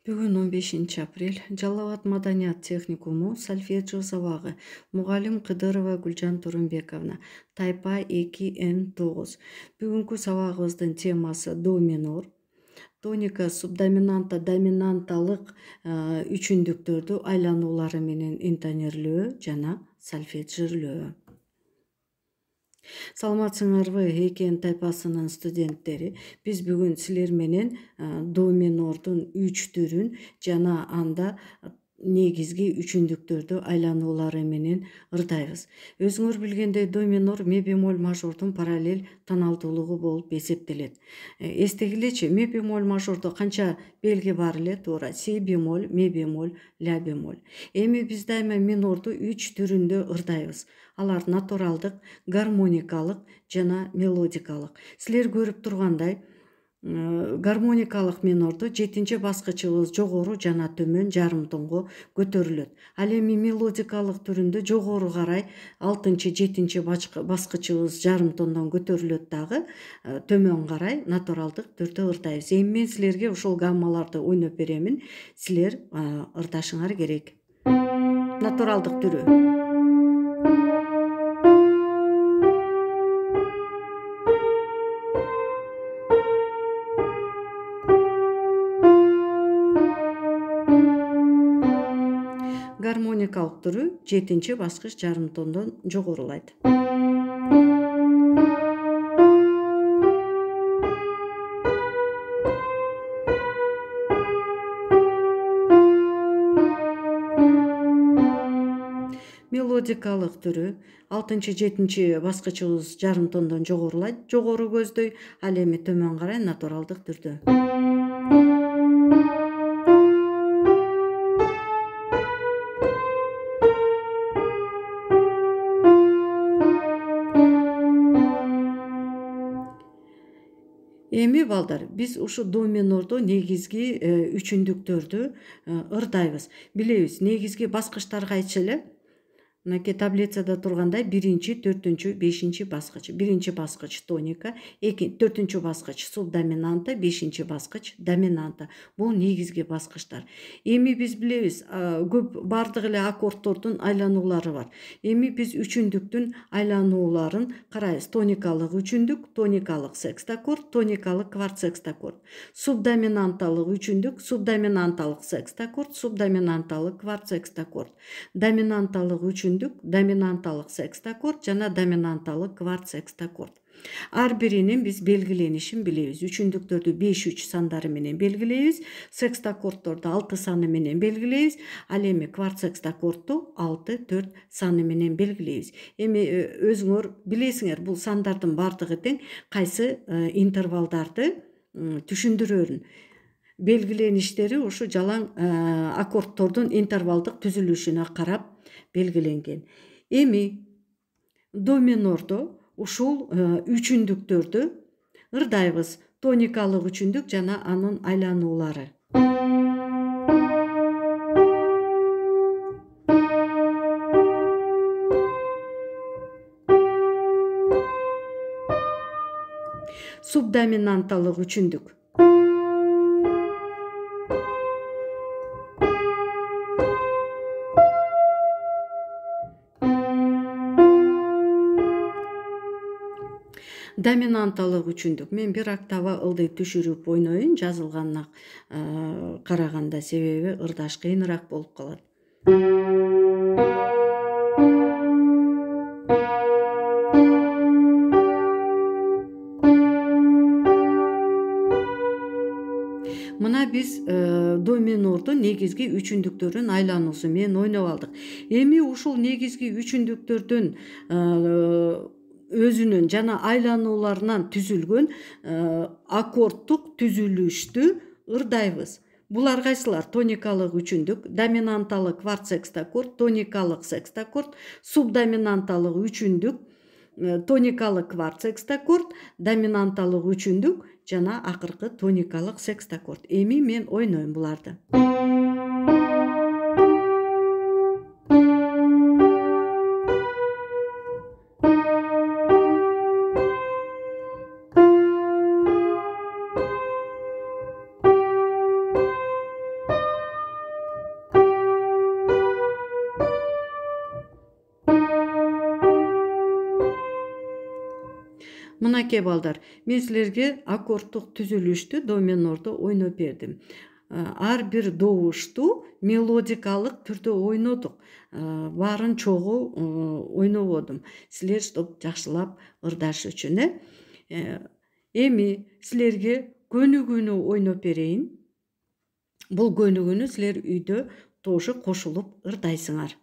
Бүгүн 15 апрель Жалал Абад маданият техникуму сольфеджио сабагы. Мугалим Кыдырова Гүлжан Турунбековна. Тайпа 2N9. Бүгүнкү сабагыбыздын темасы до минор. Тоника субдоминанта доминанталык үчүндүктөрдү айлануулары менен интонерлөө жана сольфеджирлөө. Саламатсыңарбы экен тайпасынын студенттери. Биз бүгүн силер менен до минордун 3 түрүн жана анда негизги үчүндүктөрдү айлануулары менен ырдайбыз. Өзүңөр билгендей до минор ме бемоль мажордун параллель тоналдуулугу болуп эсептелет. Эстегилечи, ме бемоль мажордо канча белги бар эле? Туура, си бемоль, ме бемоль, ля бемоль. Эми биз дайыма минорду 3 түрүндө ырдайбыз. Алар натуралдык, гармоникалык жана мелодикалык. Силер көрүп тургандай, гармоникалык минорду 7-баскычыбыз жогору жана төмөн жарым тонго көтөрүлөт. Ал эми мелодикалык түрүндө жогору карай 6-7-баскычыбыз жарым тондон көтөрүлөт дагы, төмөн карай натуралдык түрдө ырдайбыз. Эми мен силерге ушул гаммаларды ойноп беремин. Силер ырдашыңар керек. Натуралдык түрү. Гармоникалык түрү 7-баскыч жарым тондон жогорулайт. Мелодикалык түрү 6-7-баскычыбыз жарым тондон жогорулайт, жогору көздөй, ал эми төмөн карай натуралдык түрдө. Эми балдар, биз ушу до минордо негизги үчүндүктөрдү ырдайбыз. Билебиз, негизги баскычтарга айтчу эле. Мынакей таблицада тургандай 1-4-5 баскыч. 1-баскыч тоника, 4-баскыч субдоминанта, 5-баскыч доминанта. Бул негизги баскычтар. Эми биз билебиз, көп бардык эле аккордтордун айлануулары бар. Эми биз үчүндүктүн айланууларын карайбыз. Тоникалык үчүндүк, тоникалык секстаккорд, тоникалык кварт-секстаккорд. Субдоминанталык үчүндүк, субдоминанталык секстаккорд, субдоминанталык кварт-секстаккорд. Доминанталык үчүндүк, доминанталык секстаккорд жана доминанталык кварт-секстаккорд. Ар биринин биз белгиленишин билебиз. Үчүндүктөрдү 5-3 сандары менен белгилейбиз, секстаккордторду 6 саны менен белгилейбиз, ал эми кварт-секстаккордду 6-4 саны менен белгилейбиз. Эми өзүңөр билесиңер, бул сандардын бардыгы тең, кайсы интервалдарды түшүндүрөрүн. Белгилеништери ушу жалаң аккордтордун интервалдык түзүлүшүнө карап белгиленген. Эми до минордо ушул үчүндүктөрдү ырдайбыз. Тоникалык үчүндүк жана анын айлануулары. Субдоминанталык үчүндүк. Доминанталык үчүндүк. Мен бир октава ылдый түшүрүп ойноюн, жазылганына караганда, себеби ырдаш кыйыныраак болуп калат. Мына биз до минордо негизги үчүндүктөрдүн айлануусу менен ойноп алдык. Эми ушул негизги үчүндүктөрдүн өзүнүн жана айланууларынан түзүлгөн аккордтук түзүлүштү ырдайбыз. Булар кайсылар? Тоникалык үчүндүк, доминанталык кварт-секстаккорд, тоникалык секстаккорд, субдоминанталык үчүндүк, тоникалык кварт-секстаккорд, доминанталык үчүндүк жана акыркы тоникалык секстаккорд. Эми мен ойнойм буларды. Мынакей балдар, мен силерге аккордтук түзүлүштү до минордо ойноп бердим. Ар бир добушту мелодикалык түрдө ойнодук. Баарын чогуу ойнободум. Силер чтоб жакшылап ырдаш үчүн. Эми силерге көнүгүүнү ойноп берейин. Бул көнүгүүнү силер үйдө тоже кошулуп ырдайсыңар.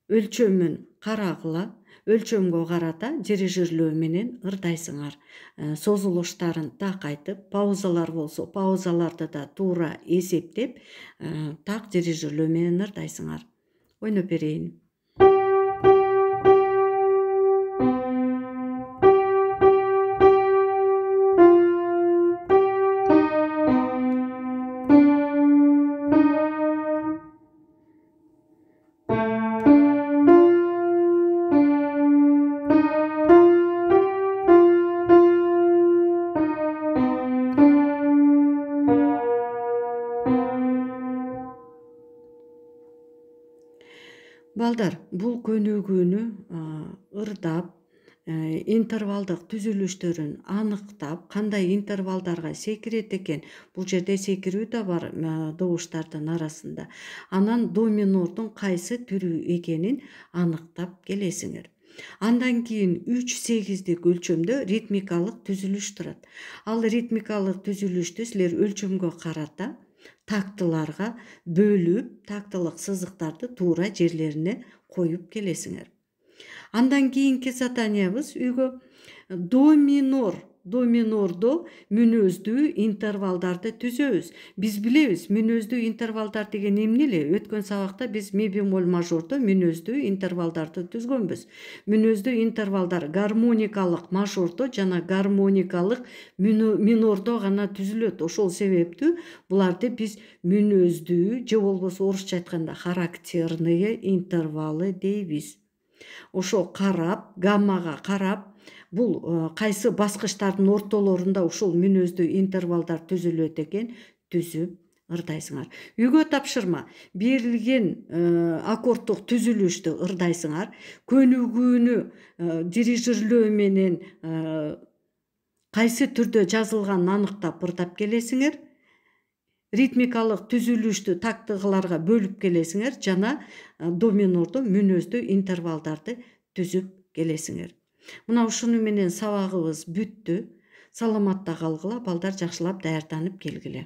Өлчөмүн карагыла, өлчөмгө карата дирижерлөө менен ырдайсыңар. Созулуштарын так айтып, паузалар болсо паузаларды да туура эсептеп, так дирижерлөө менен ырдайсыңар. Ойноп берейин. Балдар, бул көнүгүүнү ырдап, интервалдык түзүлүштөрүн аныктап, кандай интервалдарга секирет экен, бул жерде секирүү да бар добуштардын арасында. Анан до минордун кайсы түрү экенин аныктап келесиңер. Андан кийин 3-8дик өлчөмдө ритмикалык түзүлүш турат. Ал ритмикалык түзүлүштү силер өлчөмгө карата тактыларга бөлүп, тактылык сызыктарды туура жерлерине коюп келесиңер. Андан кийинки заданиябыз үйгө до минордо мүнөздүү интервалдарды түзөбүз. Биз билебиз, мүнөздүү интервалдар деген эмне эле? Өткөн сабакта биз ми бемоль мажордо мүнөздүү интервалдарды түзгөнбүз. Мүнөздүү интервалдар гармоникалык мажордо жана гармоникалык минордо гана түзүлөт. Ошол себептүү буларды биз мүнөздүү же болбосо орусча айтканда характерные интервалы дейбиз. Ошо карап, гаммага карап, бул кайсы баскычтардын ортолорунда ушул мүнөздүү интервалдар түзүлөт экен, түзүп ырдайсыңар. Үйгө тапшырма. Берилген аккордтук түзүлүштү ырдайсыңар. Көнүгүүнү дирижерлөө менен кайсы түрдө жазылганын аныктап ырдап келесиңер. Ритмикалык түзүлүштү тактыгаларга бөлүп келесиңер жана до минордо мүнөздүү интервалдарды түзүп келесиңер. Мына ушуну менен сабагыбыз бүттү. Саламатта калгыла, балдар, жакшылап даярданып келгиле.